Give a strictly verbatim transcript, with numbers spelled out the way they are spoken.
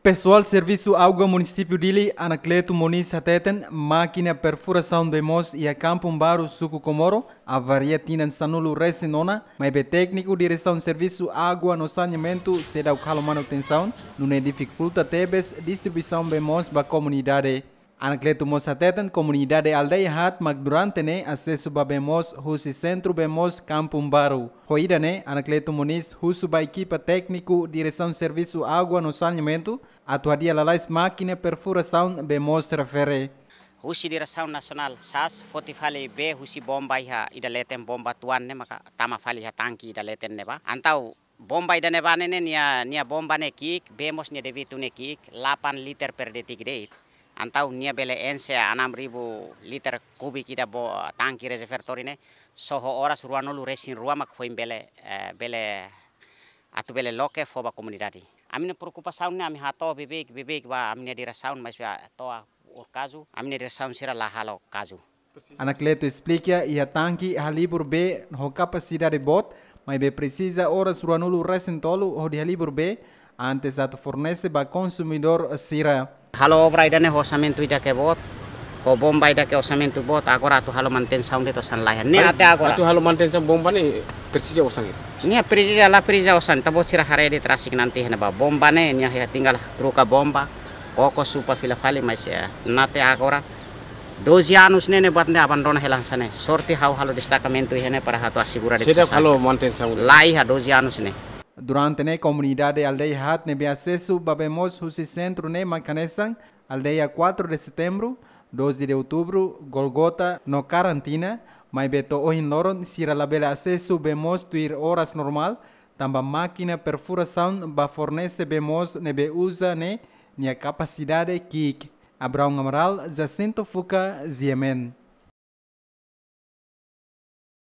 Pesoál Servisu Água Munisípiu Dili, Anacleto Moniz hateten, mákina perfurasaun bee moos iha Kampung Baru, Suku Comoro, avaria tinan sanulu resin ona, maibé tékniku Diresaun Servisu Água no Saneamentu seidauk halo manutensaun, nune'e difikulta tebes distribuisaun bee moos ba komunidade. Anacleto mós hateten komunidade aldeia haat mak durante ne'e asesu ba bee moos husi sentru bee moos Kampung Baru. Ho ida-ne'e, Anacleto Moniz husu ba ekipa tékniku Diresaun Servisu Água no Saneamentu atu hadi'a lalais mákina perfurasaun bee moos refere. Husi Diresaun Nasionál sas foti fali bee husi bomba iha ida leten, bomba tuan ne'e maka tama fali iha tangki ida leten ne'ebá. Entaun bomba ida-ne'ebá ne'e, ne'e nia, nia bomba ne'e ki'ik, bee moos nia debitu ne'e ki'ik, delapan liter per detik de'it. Entaun nia bele enxe enam ribu liter kubik ida bo tangki rezervatór ne'e, só ho oras ruanulu resin rua mak foin bele, eh, bele atu bele loke fó ba komunidade. Ami-nia preokupasaun ne'e ami hato'o beibeik, beibeik ba ami-nia diresaun, maibé to'o agora kazu, ami-nia diresaun sira la halo kazu. Anacleto esplika iha tangki halibur bee ho kapasidade boot, maibé presiza oras ruanulu resin tolu hodi halibur bee, antes atu fornese ba konsumidór sira. Halo obra ida-ne'e ho orsamentu ida ke boot, ho bomba ida ke orsamentu boot, agora atu halo manutensaun de'it osan laiha. Ne'e até agora. Atu halo manutensaun bomba ne'e presiza osan hira? Nia presiza, la presiza osan, tanba sira haree de'it rasik nanti hena ba bomba ne'e, nia tinggal troka bomba, koko supa fila fali, maibé, eh, até agora doze anos ne'e, ne'e buat ne'e abandona hela hanesan ne'e. Sorte ha'u halo destakamentu iha ne'e para atu asegura de'it. Seidauk halo manutensaun? Laiha doze anos ne'e. Durante ne'e komunidade aldeia haat ne'ebé asesu ba bee moos husi sentru ne'e mak hanesan aldeia quatro de Setembro, doze de Outubro, Golgota no Karantina, maibé to'o ohin loron sira labele asesu bee moos tuir oras normál, tanba mákina perfurasaun ba fornese bee moos ne'ebé uza ne'e nia kapasidade ki'ik. Abraão Amaral, Jacinto Fuca, G M N.